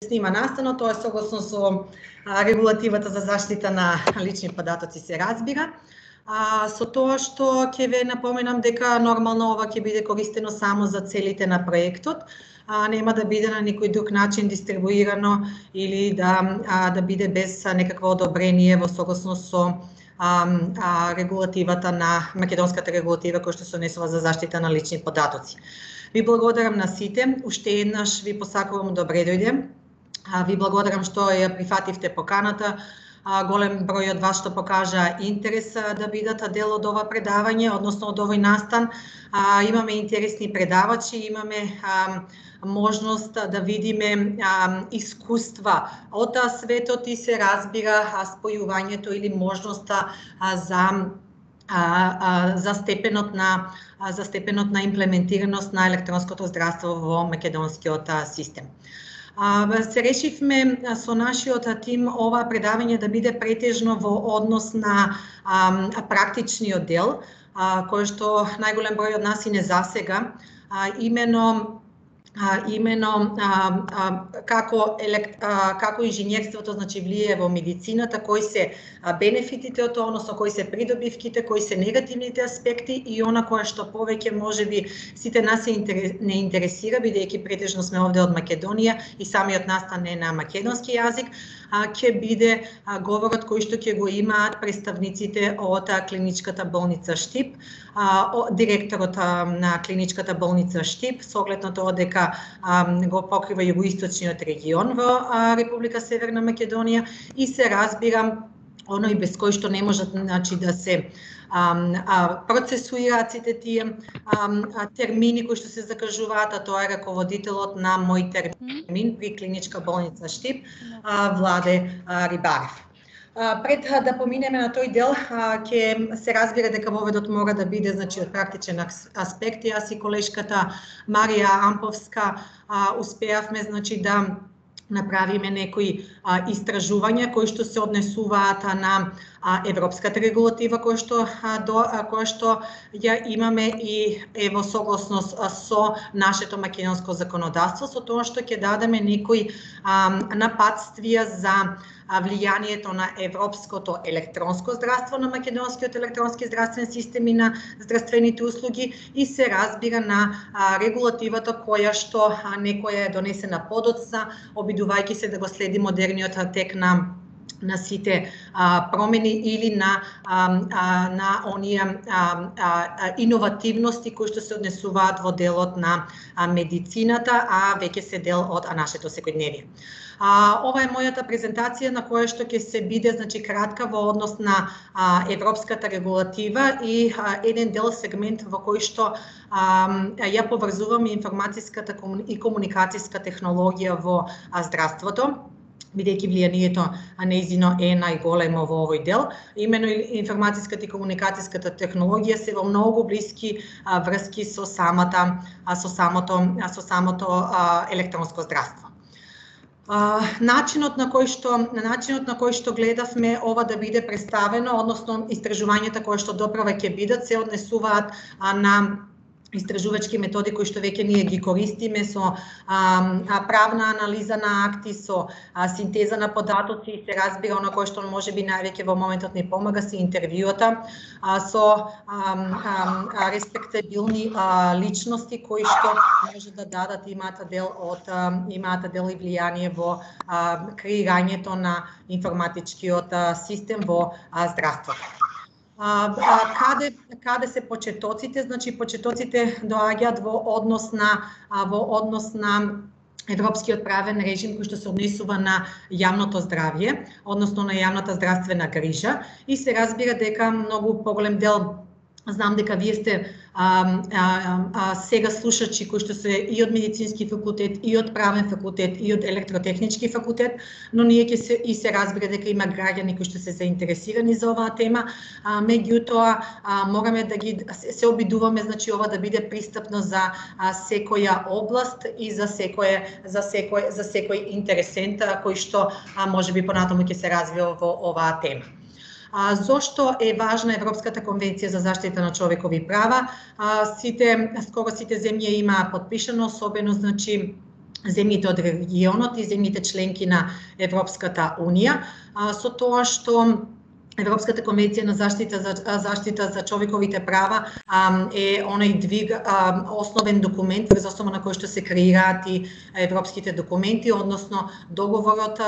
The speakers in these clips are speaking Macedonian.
снима настано, тоа е согласно со регулативата за заштита на лични податоци се разбира. Со тоа што ќе ве напоменам дека нормално ова ќе биде користено само за целите на проектот, нема да биде на никој друг начин дистрибуирано или да биде без некакво одобрение во согласност со регулативата на македонската регулатива која што се однесува за заштита на лични податоци. Ви благодарам на сите, уште еднаш ви посакувам добре дојде. Ви благодарам што ја прифативте поканата. Голем број од вас што покажа интерес да бидат дел од ова предавање, односно од овој настан. Имаме интересни предавачи, имаме можност да видиме искуства од светот и се разбира спојувањето или можноста за степенот на имплементираност на електронското здравство во македонскиот систем. Се решивме со нашиот тим ова предавање да биде претежно во однос на практичниот дел, кој што најголем број од нас и не засега, именно како инженерството значи влијае во медицината, кои се бенефитите од тоа, односно кои се придобивките, кои се негативните аспекти и она кое што повеќе можеби сите нас не интересира, бидејќи претежно сме овде од Македонија и самиот настан е на македонски јазик, ќе биде говорот кој што ќе го имаат представниците од клиничката болница Штип, директорот на клиничката болница Штип, со оглед на тоа дека го покрива југоисточниот регион во Република Северна Македонија и се разбира оној без кој што не можат значи да се процесуираат сите тие термини кои што се закажуваат, а тоа е раководителот на мој термин при клиничка болница Штип, Владе Рибарев. Пред да поминеме на тој дел, ќе се разбира дека воведот мора да биде значи од практичен аспект. Јас и колешката Марија Амповска успеавме значи да направиме некои истражувања кои што се однесуваат на европската регулатива која што ја имаме и е во согласност со нашето македонско законодавство, со тоа што ќе дадеме некои напатствија за влијанието на европското електронско здравство на македонскиот електронски здравствен систем и на здравствените услуги и се разбира на регулативата која што некоја е донесена подоцна, обидувајќи се да го следи модерниот тек на сите промени или на оние иновативности кои што се однесуваат во делот на медицината, а веќе се дел од нашето секојдневие. Ова е мојата презентација на која што ќе се биде значи кратка во однос на европската регулатива и еден дел сегмент во кој што ја поврзувам информатиската и комуникацијска технологија во здравството, бидејќи влијанието нејзино е најголемо во овој дел. Имено информатиската и комуникацијската технологија се во многу блиски врски со самото електронско здравство. Начинот на кој што гледавме ова да биде представено, односно истражувањата кои што доправа ќе бидат, се однесуваат на истражувачки методи кои што веќе ние ги користиме со правна анализа на акти, со синтеза на податоци и се разбира оно кое што можеби највеќе во моментот ни помага се интервјуата со респектабилни личности кои што може да дадат имаат дел и влијание во креирањето на информатичкиот систем во здравството. Каде се почетоците? Значи почетоците доаѓаат во однос на европскиот правен режим кој што се однесува на јавното здравје, односно на јавната здравствена грижа и се разбира дека многу поголем дел, знам дека вие сте сега слушачи кои што се и од медицински факултет, и од правен факултет, и од електротехнички факултет, но ние ќе се разбира дека има граѓани кои што се заинтересирани за оваа тема, меѓутоа мораме да ги се обидуваме значи ова да биде пристапно за секоја област и за секој интересент кој што можеби понатаму ќе се развива во оваа тема. Зошто е важна Европската конвенција за заштита на човекови права? Скоро сите земји имаа подпишано, особено значи земјите од регионот и земјите членки на Европската Унија, со тоа што Европската конвенција на заштита за човековите права е онај двиг основен документ врз основа на кој што се креираат и европските документи, односно договорот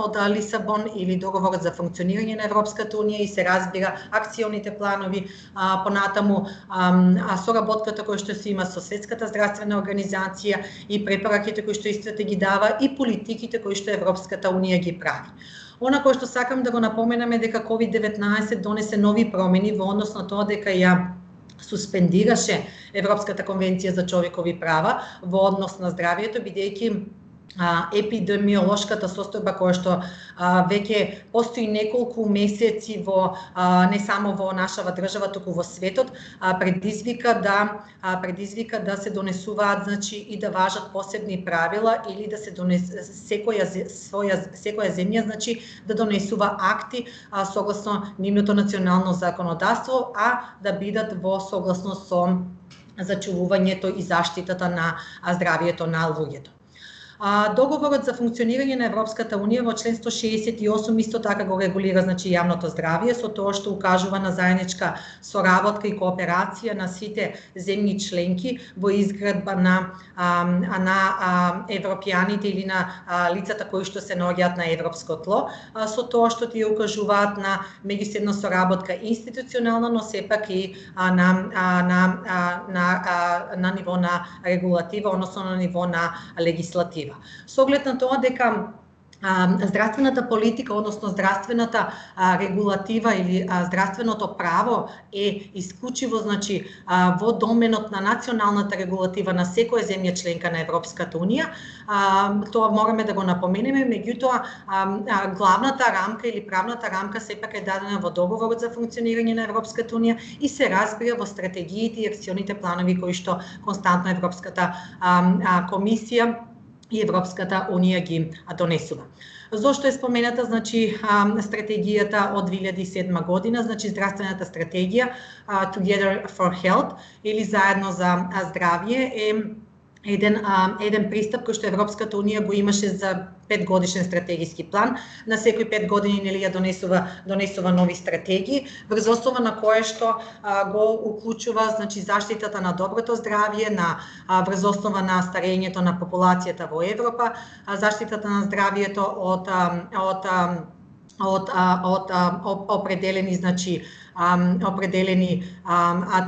од Лисабон или договорот за функционирање на Европската унија и се разбира акционите планови, понатаму соработката која што се има со Светската здравствена организација и препораките кои што истата ги дава и политиките кои што Европската унија ги прави. Она кој што сакам да го напоменам е дека COVID-19 донесе нови промени во однос на тоа дека ја суспендираше Европската конвенција за човекови права во однос на здравието, бидејќи епидемиолошката состојба која што веќе постои неколку месеци во не само во нашава држава, туку во светот, предизвика да се донесуваат, значи, и да важат посебни правила или да се секоја земја, значи, да донесува акти согласно нивното национално законодавство, да бидат во согласност со зачувувањето и заштитата на здравието на луѓето. Договорот за функционирање на Европската унија во член 168 исто така го регулира, значи, јавното здравје, со тоа што укажува на заедничка соработка и кооперација на сите земји членки во изградба на европјаните или на лицата кои што се наоѓаат на европско тло, со тоа што тие укажуваат на меѓусебна соработка институционална, но сепак и на ниво на регулатива, односно на ниво на легислатива. Со оглед на тоа дека здравствената политика, односно здравствената регулатива или здравственото право е исклучиво, значи, во доменот на националната регулатива на секоја земја членка на Европската унија, тоа мораме да го напоменеме, меѓутоа главната рамка или правната рамка сепак е дадена во договорот за функционирање на Европската унија и се разбира во стратегиите и акционите планови кои што константно Европската комисија и Европската унија ги донесува. Зошто е спомената, значи, стратегијата од 2007 година, значи здравствената стратегија Together for Health или заедно за здравје е еден пристап кој што Европската унија го имаше за 5-годишен стратегиски план. На секои 5 години нели ја донесува нови стратегии, врз основа на кое што го уклучува, значи, заштитата на доброто здравје, врз основа на старењето на популацијата во Европа, заштитата на здравјето од определени, значи, определени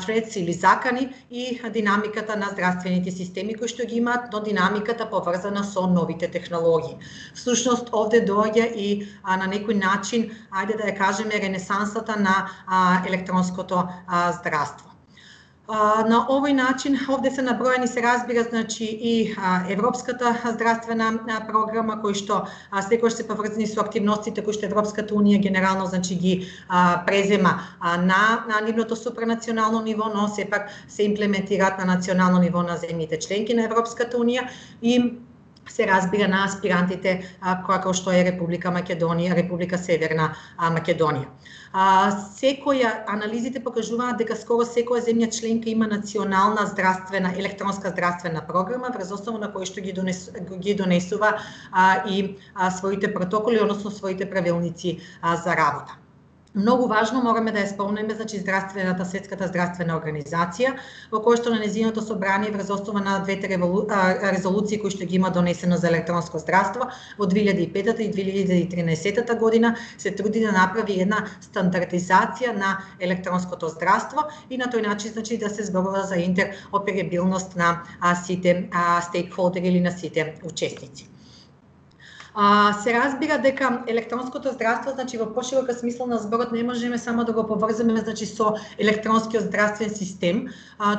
threats или закани и динамиката на здравствените системи кои што ги имаат, но динамиката поврзана со новите технологии. Всушност овде доаѓа и на некој начин, ајде да ја кажеме, ренесансата на електронското здравство. На овој начин овде се наброени, се разбира, значи, и Европската здравствена програма кои што секогаш се поврзани со активностите кои што Европската унија генерално, значи, ги презема на нивното супранационално ниво, но сепак се имплементираат на национално ниво на земјите членки на Европската унија и се разбира на аспирантите како што е Република Македонија, Република Северна Македонија. Анализите покажуваат дека скоро секоја земја членка има национална електронска здравствена програма, врз основа на кој што ги донесува и своите протоколи, односно своите правилници за работа. Многу важно мораме да ја спомнеме, значи, Светската здравствена организација, во која што на нејзиното собрание врз основа на двете резолуции кои што ги има донесено за електронско здравство во 2005 и 2013 година се труди да направи една стандардизација на електронското здравство и на тој начин, значи, да се зборува за интероперабилност на сите стейкхолдери или на сите учесници. Се разбира дека електронското здравство, значи, во поширока смисла на зборот не можеме само да го поврземе, значи, со електронскиот здравствен систем,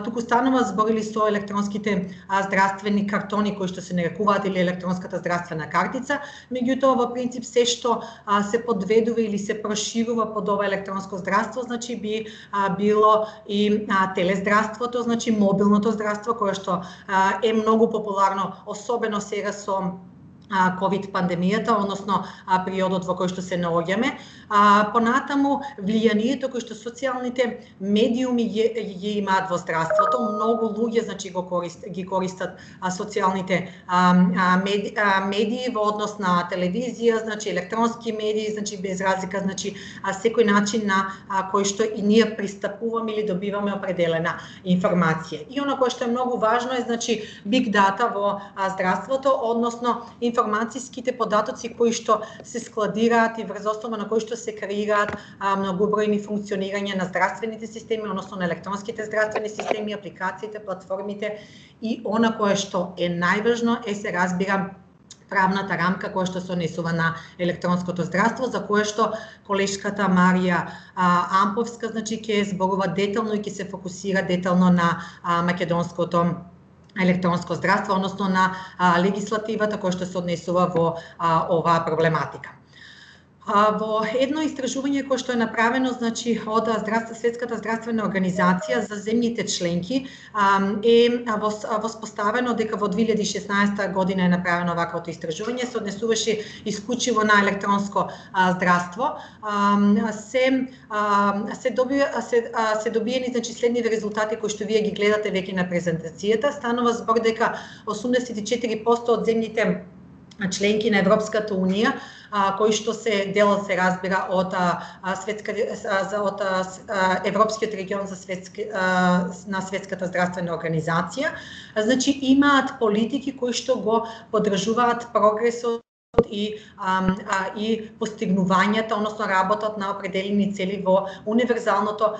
туку станува збор или со електронските здравствени картони кои што се нарекуваат или електронската здравствена картица, меѓутоа во принцип се што се подведува или се проширува под ова електронско здравство, значи, би било и телездравството, значи мобилното здравство кое што е многу популарно, особено сега со ковид пандемијата, односно периодот во кој што се наоѓаме. Понатаму влијанието кој што социјалните медиуми ги имаат во здравството, многу луѓе ги користат социјалните медии во однос на телевизија, електронски медии, без разлика, секој начин на кој што и ние пристапуваме или добиваме определена информација. И оно кое што е многу важно е big data во здравството, односно информацијските податоци кои што се складираат и врз основа на кои што се креираат многобројни функционирања на здравствените системи, односно на електронските здравствени системи, апликациите, платформите и она кое што е најважно се разбира правната рамка која што се однесува на електронското здравство, за кое што колешката Марија Амповска ќе зборува детално и ќе се фокусира детално на македонското електронско здравство, односно на легислативата која што се однесува во оваа проблематика. Во едно истражување кое што е направено од Светската здравствена организација за земјите членки е воспоставено дека во 2016 година е направено ваквото истражување, се однесуваше исклучиво на електронско здравство. Се добиени следните резултати кои што вие ги гледате веќе на презентацијата. Станува збор дека 84% од земјите членки на Европската унија кои што се делат се разбира од Европскиот регион на Светската здравствена организација, имаат политики кои што го поддржуваат прогресот и постигнувањата, односно работат на определени цели во универзалното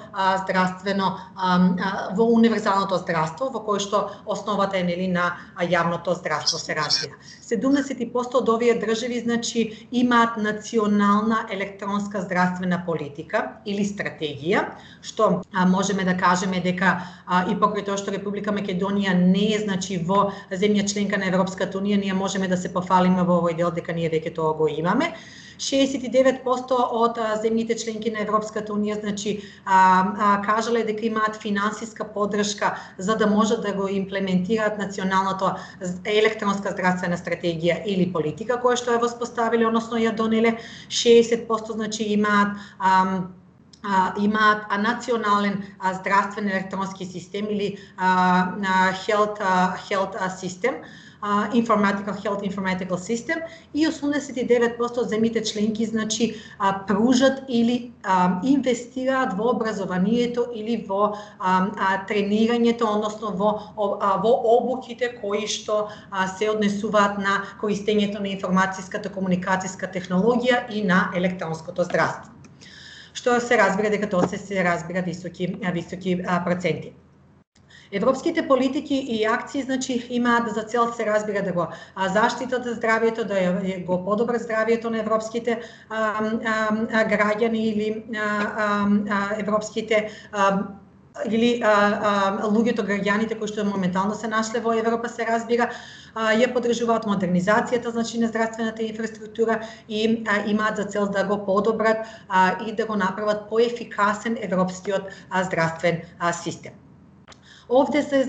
здравство, во кое што основата е на јавното здравство се разбира. 70% од овие држави имаат национална електронска здравствена политика или стратегија, што можеме да кажеме дека и покрај тоа што Република Македонија не е во земја членка на Европската унија, ние можеме да се пофалиме во овој дел дека ние веќе тоа го имаме. 69% од земјите членки на Европската унија кажале дека имаат финансиска поддршка за да можат да го имплементираат националната електронска здравствена стратегија или политика која што ја воспоставиле, односно ја донеле. 60% имаат национален здравствен електронски систем или health system, Health Informatical System, и 89% од земјите членки пружат или инвестираат во образованието или во тренирањето, односно во обуките кои што се однесуваат на користењето на информацијската комуникацијска технологија и на електронското здравство. Што се разбира дека тоа се разбира високи проценти. Европските политики и акции имаат за цел се разбира да го заштитат здравјето, да го подобрат здравјето на европските граѓани или европските или луѓето, граѓаните кои што моментално се нашле во Европа се разбира, ја поддржуваат модернизацијата на здравствената инфраструктура и имаат за цел да го подобрат и да го направат поефикасен европскиот здравствен систем. Овде се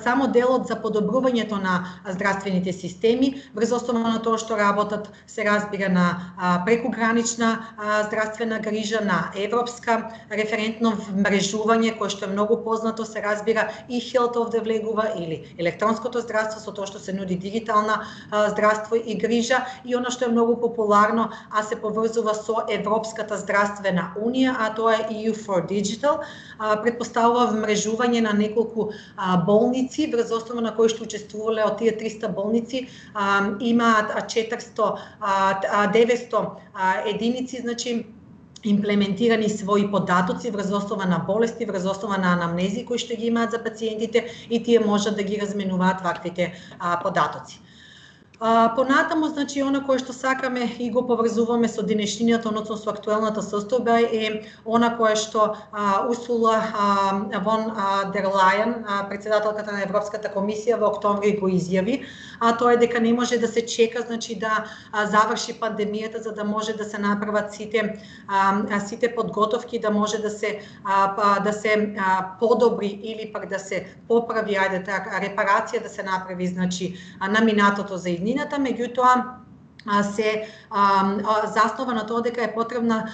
само делот за подобрувањето на здравствените системи, врз основа на тоа што работат се разбира на прекугранична здравствена грижа, на европска референтно мрежување кое што е многу познато се разбира и Health овде влегува или електронското здравство со тоа што се нуди дигитална здравство и грижа, и она што е многу популарно, се поврзува со Европската здравствена унија, тоа е EU for Digital, претпоставува вмрежување на неколку болници, врз основа на кои што учествувале од тие 300 болници, имаат 900 единици, имплементирани своји податоци врз основа на болести, врз основа на анамнези кои што ги имаат за пациентите и тие можат да ги разменуваат ваквите податоци. Понатаму, она кое што сакаме и го поврзуваме со денешнината, односно со актуелната состојба, е она кое што Урсула фон дер Лајен, председателката на Европската комисија, во октомври го изјави, тоа е дека не може да се чека, да заврши пандемијата за да може да се направат сите подготовки, да може да се подобри или пак да се поправи, репарација да се направи на минатото за иднината, меѓутоа се заснова на тоа дека е потребна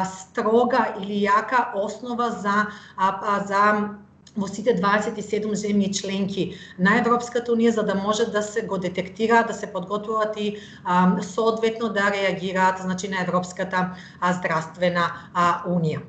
строга или јака основа за во сите 27 земји членки на Европската унија, за да може да се го детектираат, да се подготвуваат и соодветно да реагираат, значи, на Европската здравствена унија.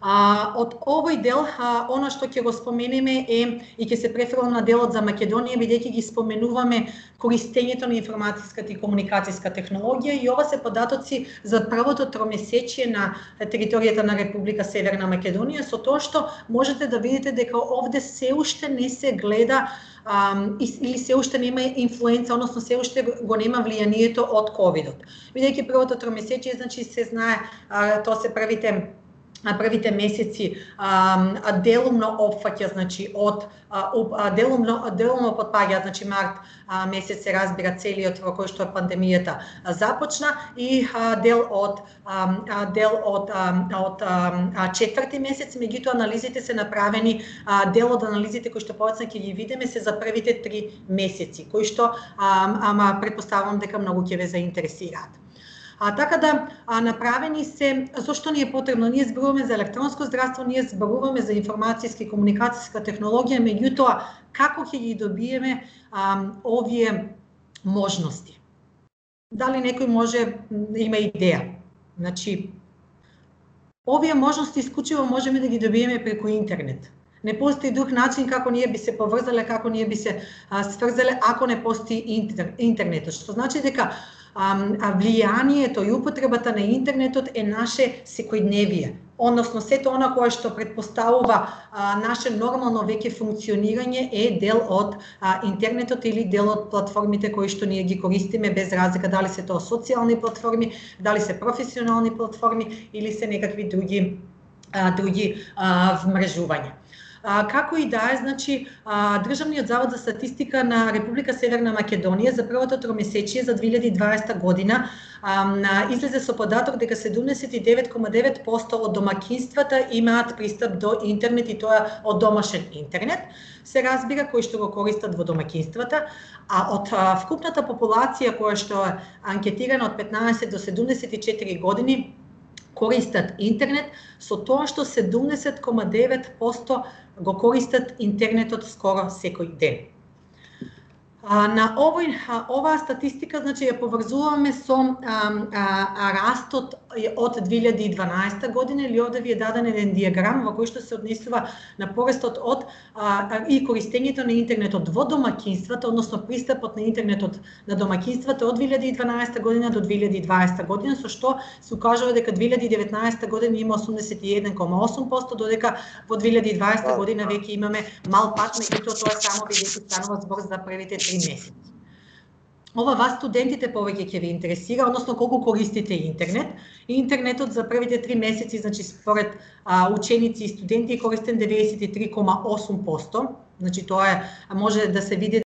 Од овој дел, она што ќе го споменеме е, и ќе се префрлам на делот за Македонија, бидејќи ги споменуваме користењето на информатиската и комуникацијска технологија, и ова се податоци за првото тромесечие на територијата на Република Северна Македонија, со тоа што можете да видите дека овде се уште не се гледа или се уште нема инфлуенца, односно се уште го нема влијанието од ковидот. Бидејќи првото тромесечие, значи, се знае, тоа се првите месеци делумно опфаќа, значи, од делумно потпаѓа, значи, март месец се разбира целиот во кој што пандемијата започна, и дел од четврти месец, меѓутоа анализите се направени, дел од анализите кои што повеќе ќе ги видиме се за првите 3 месеци, кои што претпоставувам дека многу ќе ве заинтересираат. Така да направени се, зошто ни е потребно? Ние зборуваме за електронско здравство, ние зборуваме за информацијска и комуникацијска технологија, меѓутоа како ќе ги добиеме овие можности? Дали некој може има идеја? Значи, овие можности исклучиво можеме да ги добиеме преку интернет. Не постои друг начин како ние би се поврзале, како ние би се сврзале, ако не постои интернетот. Што значи дека влијанието и употребата на интернетот е наше секојдневие, односно сето она кое што претпоставува наше нормално веќе функционирање е дел од интернетот или дел од платформите кои што ние ги користиме, без разлика дали се тоа социјални платформи, дали се професионални платформи или се некакви други вмрежувања. Како и да е, значи, Државниот завод за статистика на Република Северна Македонија за првото тромесечие за 2020 година излезе со податок дека 79,9% од домаќинствата имаат пристап до интернет, и тоа од домашен интернет, се разбира, кои што го користат во домаќинствата, а од вкупната популација која што е анкетирана од 15 до 74 години користат интернет, со тоа што 70,9% го користат интернетот скоро секој ден. На оваа статистика, значи, ја поврзуваме со растот од 2012 година, или овде ви е даден еден диаграм во кој што се однесува на порастот од и користењето на интернетот во домаќинствата, односно пристапот на интернетот на домаќинствата од 2012 година до 2020 година, со што се укажува дека 2019 година има 81,8%, додека во 2020 година веќе имаме мал пат, меѓутоа тоа само бидејќи станува збор за првите 3 месеци. Ова вас студентите повеќе ќе ви интересира, односно колку користите интернет. Интернетот за првите 3 месеци, значи според ученици и студенти, е користен 93,8%. Значи тоа може да се види